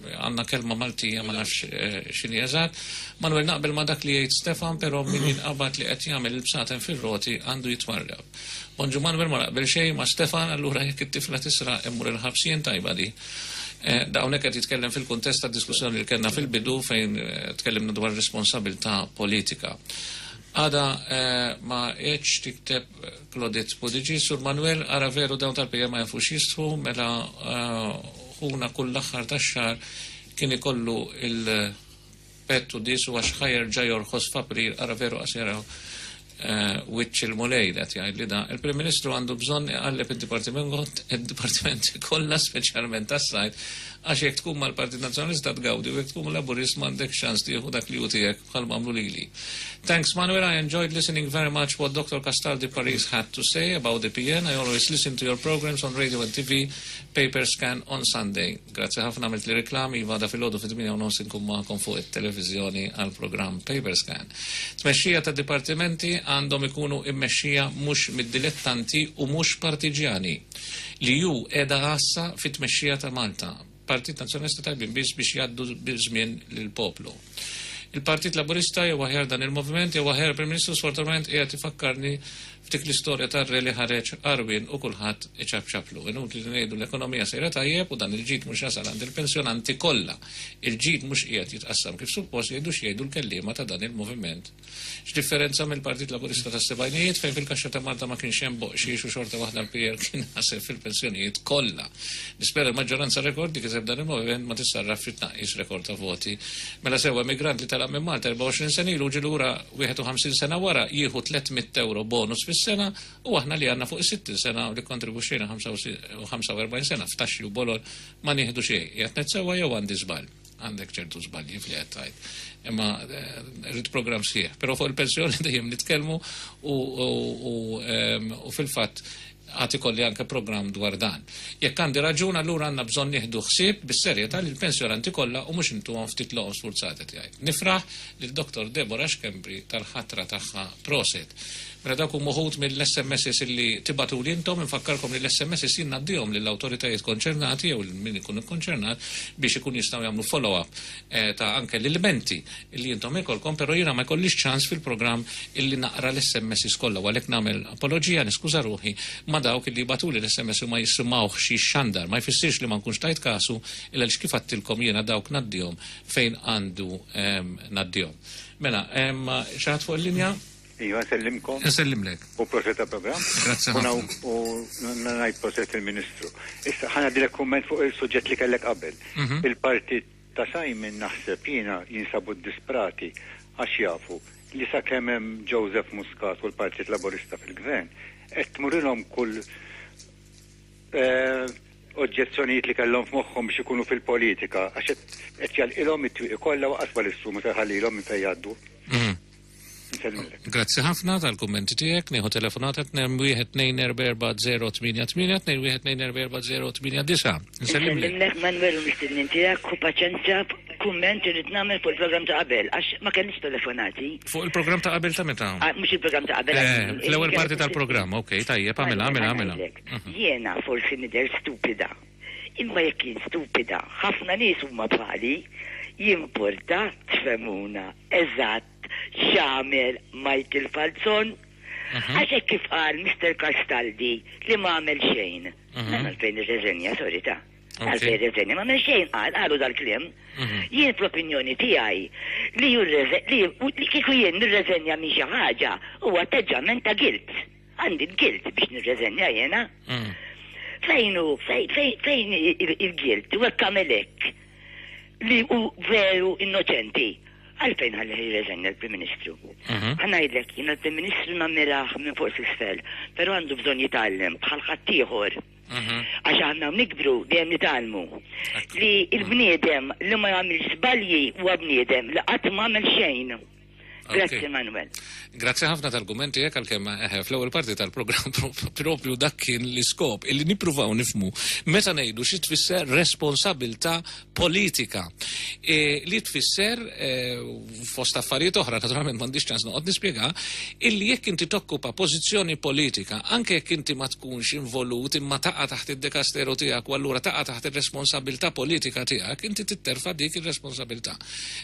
għandna kelma Maltija ma nafx x'inhi eżatt. Manuel naqbel ma' dak li jgħid Stefan però min jinqabad li qed jagħmel il-bsaten fir-roti għandu jitwarrab. Bonġu Manuel ma naqbel xejn ma' Stefan allura jekk it-tifla tisraq immur il-ħabs jien tajba di. Da hawnhekk qed jitkellem fil-kuntest tad-diskussjoni li kellna fil-bidu fejn tkellimna dwar responsabilità politika. Għada ma għedx tikteb Claudette Pudici, Sur Manuel, ara veru dawn tal-PN ma jafux jistħu, mela ħuna kull l-aħħar tax-xahar kien ikollu il-pett u disu għax ħa jerġa' jorħos f'April, ara veru qas jaraw wiċċ il-Mulej qed jgħidli da. Il-Prim Ministru għandu bżonn iqalleb id-dipartimenti kollha speċjalment tas-sajd għax jekk tkun mal-Partit Nazzjonalista tgawdi u jekk tkun Laburist m'għandekx ċans tieħu dak li hu tiegħek bħal m'għamlu lili. Thanks Manuel, I enjoyed listening very much what Dr. Castaldi Paris had to say about the PN. I always listen to your programs on radio and TV, paper scan on Sunday. Grazzi ħafna għamilt li reklam, iva da filgħodu fit-8 u nkun magħkom fuq it-televiżjoni għal programm Paper Scan. Tmexxija ta' dipartimenti għandhom ikunu immexxija mhux mid-dilettanti u mhux partiġjani li ju qiegħda għassa fit-tmexxija ta' Malta. Partit Nazzjonalista tajbin biss biex jgħaddu biż-żmien lill-poplu. Il-Partit Laburista jew aħjar dan il-moviment jew aħjar Prim Ministru sfortunatament qiegħed ifakkarni f'dik l-istorja tar-re li ħareġ għarwien u kulħadd iċapċaplu. Inutli li ngħidu l-ekonomija sejra tajjeb u dan il-ġid mhux jasal għand il-pensjonanti kollha. Il-ġid mhux qiegħed jitqassam kif suppost jgħidu x'jgħidu l-kelliema ta' dan il-moviment. X'differenza mill-Partit Laburista tas-sebgħinijiet fejn fil-kaxxa ta' Malta ma kienx hemm boqxiex u xorta waħda l-PL kien ħaseb fil-pensjonijiet kollha. Nispera l-maġġoranza rekord li kiseb dan il-moviment ma tissarraf fi tnaqqis rekord ta' voti. Mela sewwa emigrant li telaq minn Malta 24 sena ilu ġie lura 51 sena wara jieħu 300 ewro bonus fis-sena u aħna li għandna fuq is-60 sena u li kkontribwixxejna 45 sena f'taxxi u bolol ma nieħdu xejn. Qiegħed ngħid sewwa jew għandi żball? Għandek ċertu żbalji f'li qed tgħid. Imma rrid programm sħiħ. Però fuq il-pensjoni dejjem nitkellmu u fil-fatt għad ikolli anke programm dwar dan. Jekk għandi raġun allura għandna bżonn nieħdu ħsieb bis-serjetà lill-pensjonanti kollha u mhux intuhom ftit loqom sfurzati tiegħi. Nifraħ lil Dr. Deborah Schembri tal-ħatra tagħha proset. Mela dawk huma uħud mill-SMSs illi tibagħtuli intom, infakkarkom li l-SMSs jien ngħaddihom lill-awtoritajiet konċernati jew lil min ikun ikkonċernat biex ikun jistgħu jagħmlu follow-up ta' anke l-ilmenti illi intom ikolkom, però jiena ma jkollix ċans fil-programm illi naqra l-SMSs kollha u għalhekk nagħmel apoloġija, niskuża ruħi ma' dawk illi jibagħtuli l-SMS u ma jisimgħuhx jixxandar. Ma jfissirx li ma nkunx tajt kasu illa għaliex kif għedtilkom jiena dawk ngħaddihom fejn għandu ngħaddihom. Mela, hemm xi ħadd fuq il-linja? Iva, nsellimkom. Nsellimlek. U proset ta' program. Grazzi ħafna. U ngħid proset il-Ministru. Issa ħa ngħaddilek kumment fuq il-suġġett li kellek qabel. Il-partit ta' Simon naħseb jiena jinsabu disprati għax jafu li sakemm hemm Joseph Muscat u l-Partit Laburista fil-Gvern qed tmurilhom kull oġġezzjonijiet li kellhom f'moħħhom biex ikunu fil-politika għax qed jagħlqilhom it-twieqi kollha u qasba l-issu ma jħallilhom minn fejn jgħaddu. Grazzi ħafna tal-kummenti tiegħek, nieħu telefonata 2 244 212 44089. Nsellimlek Manuel u mistednin tiegħek u paċenzja kumment irrid nagħmel fuq il-programm ta' qabel għax ma kellix telefonati. Fuq il-programm ta' qabel ta' meta? Mhux il-programm ta' qabel. L-ewwel parti tal-programm, okej, tajjeb, għamilha, għamilha, għamilha. Jiena forsi nidher stupida. Imma jekk jien stupida, ħafna nies huma bħali, jimporta tfehmuna eżatt x'għamel Michael Falzon. Għax hekk kif qal Mr. Castaldi li ma għamel xejn. Mela għalfejn irreżenja, sorry ta' għalfejn irreżenja, ma għamel xejn qal, qalu dal-kliem. Jien fl-opinjoni tiegħi li li kieku jien nirreżenja minn xi ħaġa huwa atteġġament ta' guilt. Għandi l-guilt biex nirreżenja jiena. Fejn hu, fejn il-guilt, u hekk għamel hekk li hu veru innoċenti. Għalfejn ħalli jirreżenja l-Prim Ministru. Ħa ngħidlek, jiena l-Prim Ministru nammirah minn fuq s'isfel, però għandu bżonn jitgħallem bħal ħaddieħor. Għax aħna nikbru dejjem nitgħallmu. Li l-bniedem li ma jagħmilx żbalji huwa bniedem li qatt ma għamel xejn. Grazzi Manuel. Grazzi ħafna tal-kummenti tiegħek għalkemm eh, fl-ewwel parti tal-programm propju dak kien l-iskop illi nippruvaw nifmu meta ngħidu xi tfisser responsabilità politika. E, li tfisser e, fost affarijiet oħra, naturalment m'għandix ċans noqgħod nispjega, illi jekk inti tokkupa pożizzjoni politika, anke jekk inti ma tkunx involut imma taqa' taħt id-dekasteru tiegħek u allura taqa' taħt ir-responsabilità politika tiegħek, inti titterfa' dik ir-responsabilità.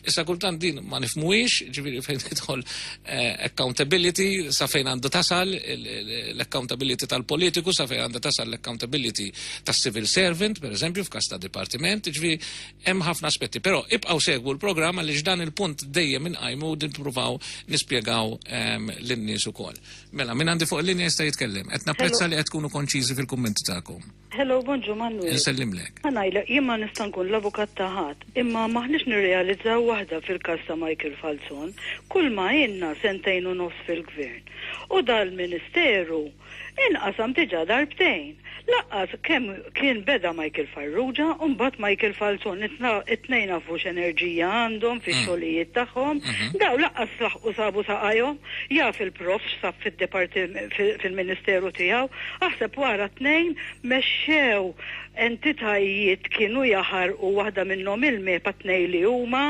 Issa kultant din ma nifmuhiex, ġifieri fejn tidħol eh, accountability, sa fejn għandu tasal l-accountability tal-politiku, sa fejn għandu tasal l-accountability tas-civil servant, per eżempju, f'każ ta' dipartiment, ġifieri hemm ħafna aspetti. Però ibqgħu segwu l-programm għaliex dan il-punt dejjem inqajmu u nippruvaw nispjegaw ehm, lin-nies ukoll. Mela, min għandi fuq il-linja jista' jitkellem. Qed napprezza li qed tkunu konċiżi fil-kummenti tagħkom. Hello, bonġu Manuel. Insellimlek. Ħa ngħidlek, jien ma nista' nkun l-avukat ta' ħadd, imma m'aħniex nirrealizzaw waħda fil-każ ta' Michael Falzon, kull ma ilna sentejn u nofs fil-Gvern. U dal-Ministeru inqasam diġà darbtejn. Laqqas kemm kien beda Michael Farrugia u mbagħad Michael Falzon, it-tnejn nafu x'enerġija għandhom fix-xogħlijiet tagħhom, daw laqqas laħqu sabu saqajhom. Jaf il-Prof x'sab fil-Ministeru tiegħu. Aħseb wara t-tnejn mexxew entitajiet kienu jaħarqu waħda minnhom il-MEPA t-tnejn li huma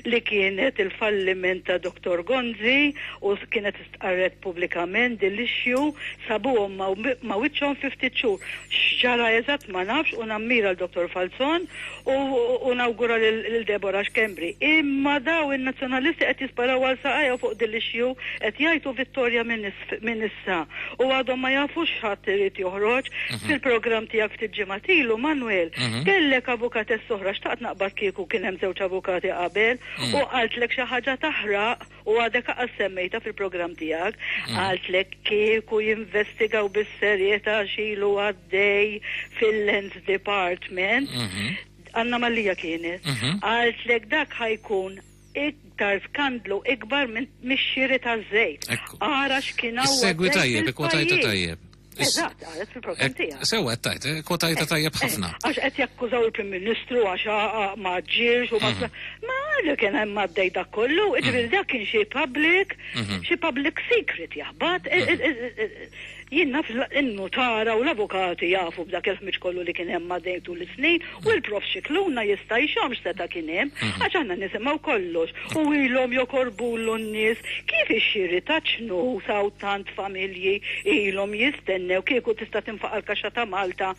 li kienet il-falliment ta' Dottor Gonzi u kienet istqarret pubblikament din l-issue sabuhom ma' wiċċhom fi ftit xhur. X'ġara eżatt ma nafx u nammira 'l Dottor Falzon u nawgura lil Deborah Schembri. Imma daw in-Nazzjonalisti qed jisparaw għal saqajhom fuq din l-issue, qed jgħajtu vittorja minn issa u għadhom ma jafux x'ħadd irid joħroġ. Fil-programm tiegħek ftit ġimgħat ilu, Manuel, kellek avukatess oħra, xtaqt naqbad kieku kien hemm żewġ avukati qabel, u qaltlek xi ħaġa taħraq. U għadek aqas semmejtha fil-programm tiegħek, qaltlek kieku jinvestigaw bis-serjetà x'ilu għaddej fil-Lands Department, Anna Mallia kienet, qaltlek dak ħa jkun iktar skandlu ikbar minn mix-xiri taż-żejt. Ara x'kien hawn Segwi għaddej tajjeb, ikkwotajta fil-pajjiż. tajjeb. Eżatt, qalet fil-programm tiegħek. Sewa qed tgħid, eh, kwotajta tajjeb ħafna. Għax qed jakkużaw il-Prim Ministru għax ma ġġierx u ma mhm. Ma li kien hemm għaddej dak kollu, jiġifieri dak kien xi public, mhm. xi public secret jaħbat. E, e, e, jien naf in-nutara u l-avukati jafu b'dak il-ħmiġ kollu li kien hemm għaddej tul is-snin u l-prof Xikluna jista' jxomm x'seta' kien hemm, mhm. għax aħna nisimgħu kollox u ilhom jokorbulu n-nies kif ix-xiri ta' ċnus hawn tant familji ilhom jistennew kieku tista' tinfaqa' l-kaxxa ta' Malta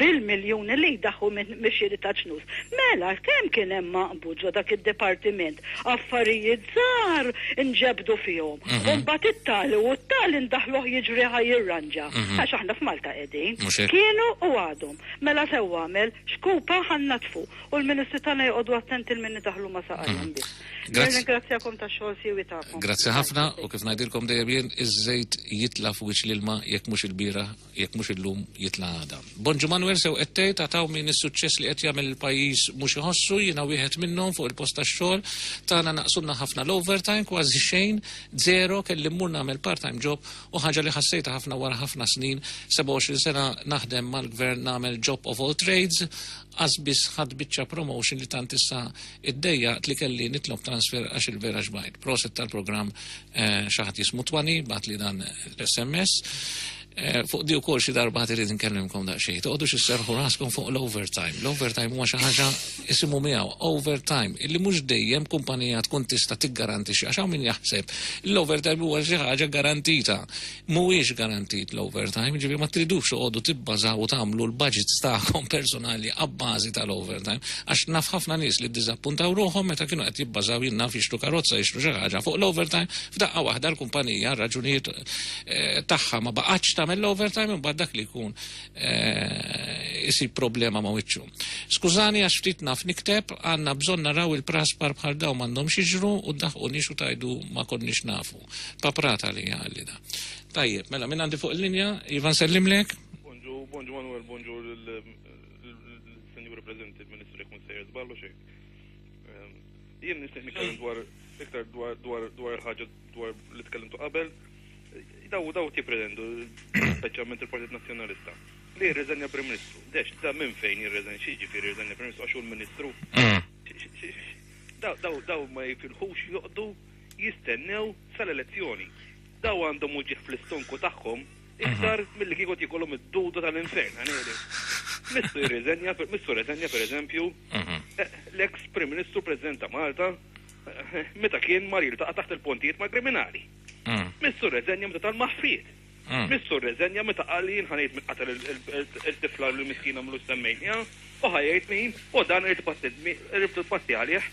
bil-miljuni li jdaħħu mix-xiri ta' ċnus. Mela kemm kien hemm maqbud ġo dak id-dipartiment affarijiet żgħar inġebdu fihom u mbagħad it-tali u t-tali ndaħħluh jiġri ħa jirranġa għax aħna f'Malta qegħdin. Kienu u għadhom. Mela sewwa għamel, xkupa ħa nnaddfu. U l-ministri tagħna joqogħdu attenti 'l min idaħħlu ma' saqajhom biss. Nirringrazzjakom tax-xogħol siewi tagħkom. Grazzi ħafna u kif ngħidilkom dejjem jien iż-żejt jitla' f'wiċċ l-ilma jekk mhux ilbieraħ, jekk mhux illum jitla' għada. Bonġu Manuel sew qed tgħid għad hawn min is-suċċess li qed jagħmel il-pajjiż mhux iħossu, jiena wieħed minnhom fuq il-post tax-xogħol tagħna naqsulna ħafna l-overtime kważi xejn, zero, kelli mmur nagħmel part-time job u ħaġa li ħassejtha ħafna wara ħafna snin, 27 sena naħdem mal-gvern nagħmel job of all trades, Qas biss ħadt biċċa promotion li tant issa iddejjaqt li kelli nitlob transfer għax il-vera xbajt. Proset tal-programm xi ħadd jismu Twani bagħatli dan l-SMS. Fuq di wkoll xi darba ħadd irid inkellimkom daqsxejn. Toqgħodux isserrħu raskom fuq l-overtime. L-overtime huwa xi ħaġa isimu miegħu overtime illi mhux dejjem kumpanija tkun tista' tiggarantixxi għax hawn min jaħseb l-overtime huwa xi ħaġa garantita. Mhuwiex garantit l-overtime, jiġifieri ma tridux toqogħdu tibbażaw u tagħmlu l-budgets tagħkom personali abbażi tal-overtime, għax naf ħafna nies li ddiżappuntaw ruħhom meta kienu qed jibbażaw jien naf jixtru karozza, jixtru xi ħaġa fuq l-overtime, f'daqqa waħda l-kumpanija għal raġunijiet tagħha ma baqgħetx tagħmel l-overtime imbagħad dak li jkun isib problema ma' wiċċu. Skużani għax ftit naf nikteb, għandna bżonn naraw il-praspar bħal dawn m'għandhomx jiġru u ddaħqunix u tgħidu ma konniex nafu. Paprata li għalli da. Tajjeb, mela minn għandi fuq il-linja, Ivan sellimlek. Bonġu, bonġu Manuel, bonġu l-senjura prezenti, il-Ministru jekk mhux sejjer żball u xejn. Ehm, jien nixtieq nitkellem dwar iktar dwar dwar dwar il-ħaġa dwar li tkellimtu qabel. Daw daw tippretendu, speċjalment il-Partit Nazzjonalista, li jirriżenja Prim Ministru. Dex, da minn fejn jirriżenja, xi ġifieri jirriżenja Prim Ministru għax hu l-Ministru. Mm. Daw daw ma jifilħux joqdu. Jistennew sal-elezzjoni. Daw għandhom uġigħ fl-istonku tagħhom iktar milli kieku tiekolhom id-duda tal-infern, ħa ngħidlek. Missu jirriżenja, missu rreżenja pereżempju, l-eks Prim Ministru President ta' Malta meta kien mar jiltaqa' taħt il-pontijiet mal-kriminali. Missu rreżenja meta tal-maħfriet. Missu rreżenja meta qal li jien ħa ngħid min qatel il-tifla l-miskina mlux semmejniha u ħa jgħid min u dan irid ipatti għalih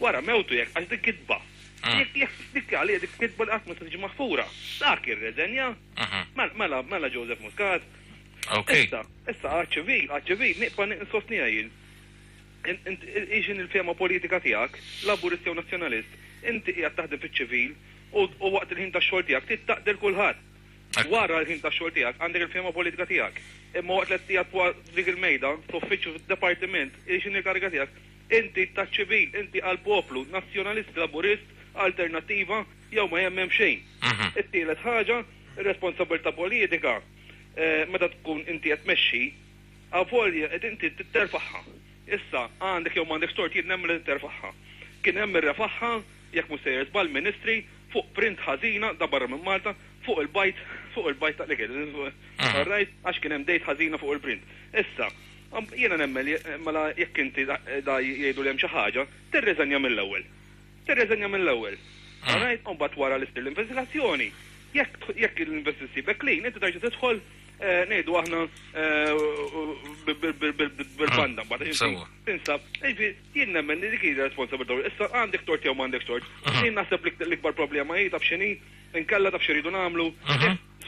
wara mewtu jekk għax dik kitba. Jekk jekk dik għalija dik kitba li qatt ma se tiġi maħfura. Dak irreżenja. Mela mela Joseph Muscat. Issa, issa għaċ-ċivil, għaċ-ċivil nibqa' nsostniha jien. Hi x'inhi l-fehma politika tiegħek, Laburist jew Nazzjonalist, inti qiegħed taħdem fiċ-ċivil u waqt il-ħin tax-xogħol tiegħek trid taqdel kulħadd. Wara l-ħin tax-xogħol tiegħek għandek il-fehma politika tiegħek. Imma waqt li qed qiegħed fuq dik il-mejda, fl-uffiċċju, fid-dipartiment, hi x'inhi l-kariga tiegħek, inti taċ-ċivil, inti għall-poplu, Nazzjonalist, Laburist, Alternattiva, jew ma jemmen f'xejn. It-tielet ħaġa, ir-responsabbiltà politika, meta tkun inti qed tmexxi, Avolja qed inti titterfagħha. Issa, għandek jew m'għandekx tort jien nemmen li titterfagħha. Kien hemm min refagħha, jekk mhux sejjer żball, ministri, fuq print ħażina, da barra minn Malta, fuq il-bajd, fuq il-bajd ta' l-ikel. All right? Għax kien hemm date ħażina fuq il-print. Issa, jiena nemmen li mela jekk inti da jgħidu li hemm xi ħaġa, tirriżenja mill-ewwel. Tirriżenja mill-ewwel. All right? U mbagħad wara li ssir l-investigazzjoni, jekk jekk l-investigazzjoni ssibek clean, inti terġa' tidħol ngħidu aħna bil-banda mbagħad inti tinsab. Jiġifieri jien nemmen li dik hija responsabilità. Issa għandek tort jew m'għandekx tort. Jien naħseb li l-ikbar problema hi taf x'inhi, inkella taf x'iridu nagħmlu.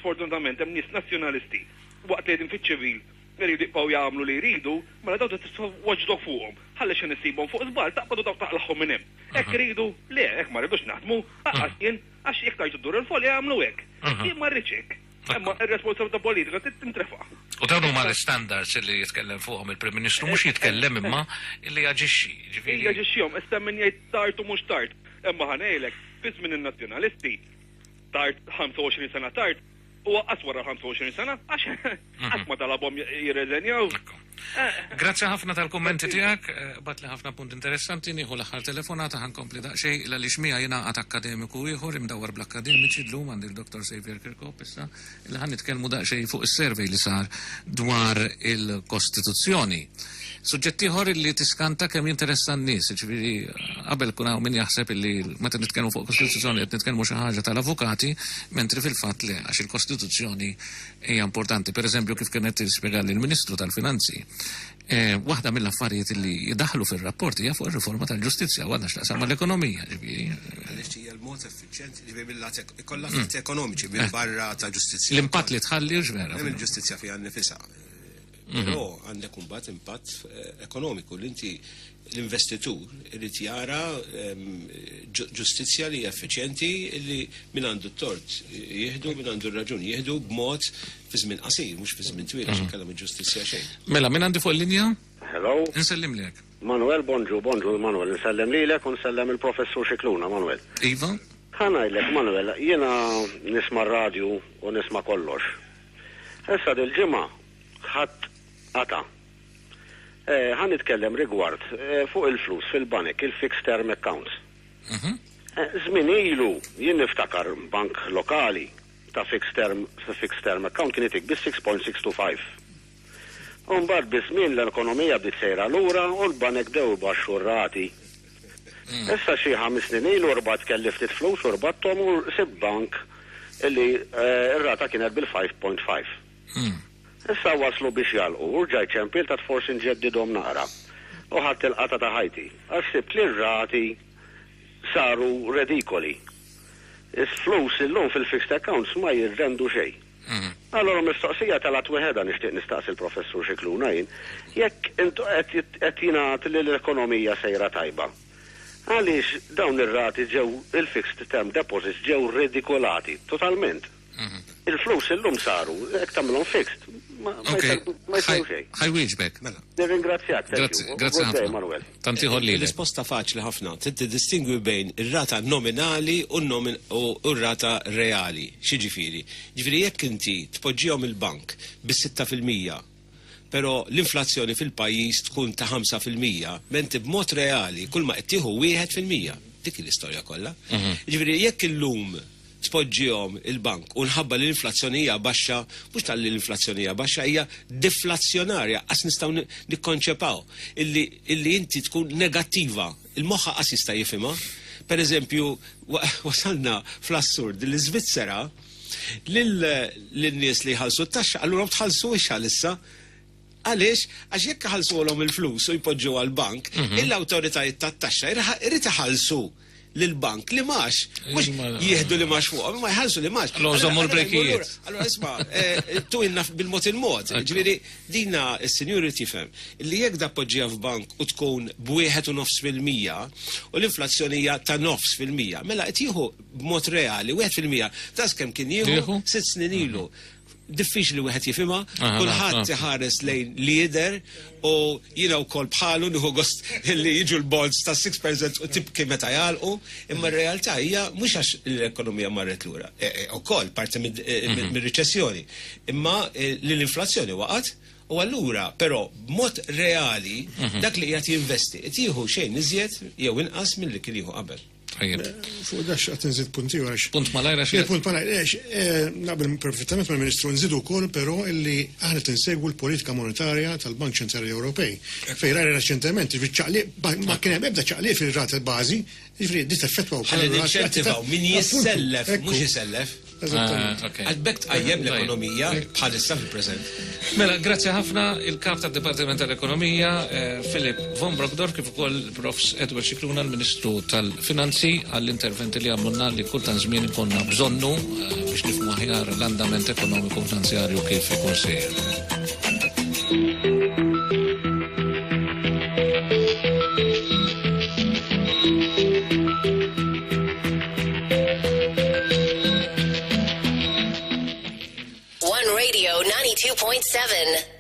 Sfortunatament hemm nies nazzjonalisti waqt li qegħdin fiċ-ċivil iridu jibqgħu jagħmlu li jridu, mela dawn trid titfa' watchdog fuqhom. Ħalli xi issibhom fuq żball taqbad u dawk taqlagħhom minn hemm. Hekk iridu? Le, hekk ma rridux naħdmu, anqas jien, għax jekk tgħid iddur il-folja jagħmlu hekk. Jien ma rridx hekk. Imma r-responsabilità politika trid tintrefa'. U dawn huma l-istandards li jitkellem fuqhom il-Prim Ministru, mhux jitkellem imma li jaġixxi, jiġifieri. Jaġixxihom, issa hemm min jgħid tard u mhux tard. Imma ħa ngħidlek, fi żmien in-Nazzjonalisti, tard 25 sena tard, u aqqas wara 25 sena, għax qatt ma talabhom jirreżenjaw. Grazzi ħafna tal-kummenti tiegħek, batli ħafna punt interessanti, nieħu l-aħħar telefonata ħa nkompli daqsxejn għaliex miegħi jingħaqad akkademiku ieħor imdawwar bl-akkademiċi llum għandi l-Dottor Saviour Kirkop issa li ħa nitkellmu daqsxejn fuq is-survey li sar dwar il-Kostituzzjoni. Suġġett ieħor li tiskanta kemm jinteressa n-nies, jiġifieri qabel kun hawn min jaħseb illi meta nitkellmu fuq Kostituzzjoni qed nitkellmu xi ħaġa tal-avukati, mentri fil-fatt le għax il-Kostituzzjoni hija importanti. Per eżempju, kif kienet tispjegali l-Ministru tal-Finanzi, eh, waħda mill-affarijiet li jidaħlu fir-rapport hija fuq ir-riforma tal-ġustizzja u għandha x'taqsam mal-ekonomija, ġifieri. Għaliex hija l-mod effiċjenti, ġifieri mill-lat ikollha effetti ekonomiċi minn barra ta' ġustizzja. L-impatt li tħalli vera. Hemm il-ġustizzja fiha nnifisha. Però għandek imbagħad impatt ekonomiku li inti l-investitur irid jara ġustizzja li hija effiċjenti li min għandu t-tort jieħdu, min għandu r-raġun jieħdu b'mod fi żmien qasir, mhux fi żmien twil għax inkella mhi ġustizzja xejn. Mela, min għandi fuq il-linja? Hello. Insellimlek. Manuel, bonġu, bonġu Manuel, insellem lilek u nsellem il-Professur Scicluna, Manuel. Iva. Ħa ngħidlek, Manuel, jiena nisma' r-radju u nisma' kollox. Issa dil-ġimgħa ħadd qata'. Ħa nitkellem rigward fuq il-flus fil-banek, il-fixed term accounts. Żmien ilu jien niftakar bank lokali ta' fixed term, fixed term account kien itik bi 6.625. U mbagħad biż-żmien l-ekonomija bdiet sejra lura u l-banek bdew ibaxxu r-rati. Issa xi ħames snin ilu rbatt kelli ftit flus u rbatthom u sibt bank li r-rata kienet bil-5.5. Issa waslu biex jagħlqu u rġajt ċempilt għad forsi nġeddidhom naqra. U ħadt il-qatgħa ta' ħajti għax sibt li r-rati saru redikoli. Is-flus illum fil-fixed accounts ma jirrendu xejn. Allura mistoqsija telgħet weħedha nixtieq nistaqsi l-Professur Scicluna jien, jekk intu qed jingħad li l-ekonomija sejra tajba, għaliex dawn ir-rati ġew il-fixed term deposits ġew redikolati totalment? Il-flus illum saru, jekk tagħmilhom fixed, ma jsew xejn. Ħa jwieġbek. Mela. Nirringrazzjak, thank you. Grazzi Good day, ħafna. Manuel. Tant ieħor lilek. Risposta faċli ħafna. Trid tiddistingwi bejn ir-rata nominali u r-rata reali. X'jiġifieri? Jiġifieri jekk inti tpoġġihom il-bank bis-6%, però l-inflazzjoni fil-pajjiż tkun ta' 5%, menti b'mod reali kull ma qed tieħu 1%. Dik l-istorja kollha. Jiġifieri jekk illum tpoġġihom il-bank u nħabba li l-inflazzjoni hija baxxa, mhux talli l-inflazzjoni hija baxxa, hija deflazzjonarja, qas nistgħu nikkonċepaw illi illi inti tkun negattiva, il-moħħ qas jista' jifhimha. Per eżempju, wasalna fl-assurd li l-Iżvizzera lin-nies li jħallsu t-taxxa allura tħallsuhiex għalissa. Għaliex? Għax jekk iħallsuhom il-flus u jpoġġu għall-bank, l-awtoritajiet tat-taxxa irid iħallsu lill-bank li max. Mhux jieħdu li max fuqhom, ma jħallsu li max. Allura żommu l-brekijiet. Allura isma', tu inna bil-mod il-mod. Ġifieri dina s-sinjuri tifhem li jekk da poġġija f'bank u tkun b'1.5% u l-inflazzjoni hija ta' 0.5%, mela qed jieħu b'mod reali 1% ta' kemm kien jieħu 6 snin ilu. Diffiċli wieħed jifhimha, kulħadd iħares lejn li jidher u jiena wkoll bħalu nieħu gost li jiġu l-bonds ta' 6% u tibki meta jagħlqu, imma r-realtà hija mhux għax l-ekonomija marret lura, ukoll parti mir-riċessjoni, imma li l-inflazzjoni waqgħet u allura però b'mod reali dak li qiegħed jinvesti qed jieħu xejn iżjed jew inqas milli kien jieħu qabel. Tajjeb. Fuq dax qed nżid punt ieħor għax. Punt malajr għax. Punt malajr, għax naqbel perfettament mal-Ministru nżidu wkoll però illi aħna qed insegwu l-politika monetarja tal-Bank Ċentrali Ewropej. Fejn rajna reċentement, jiġifieri ċaqliq ma kien hemm ebda ċaqliq fir-rata bażi, jiġifieri di teffettwa wkoll. Ħalli ninċentivaw min jissellef mhux isellef. Eżattament. Għax b'hekk tqajjem l-ekonomija bħalissa fil-preżent. Mela, grazzi ħafna il-Kap tad-Dipartiment tal-Ekonomija, Philip von Brockdorff, kif ukoll Profs Edward Scicluna, l-Ministru tal-Finanzi, għall-interventi li għamlulna li kultant żmien ikollna bżonnu biex nifhmu aħjar l-andament ekonomiku finanzjarju kif ikun sejjer. One Radio 92.7.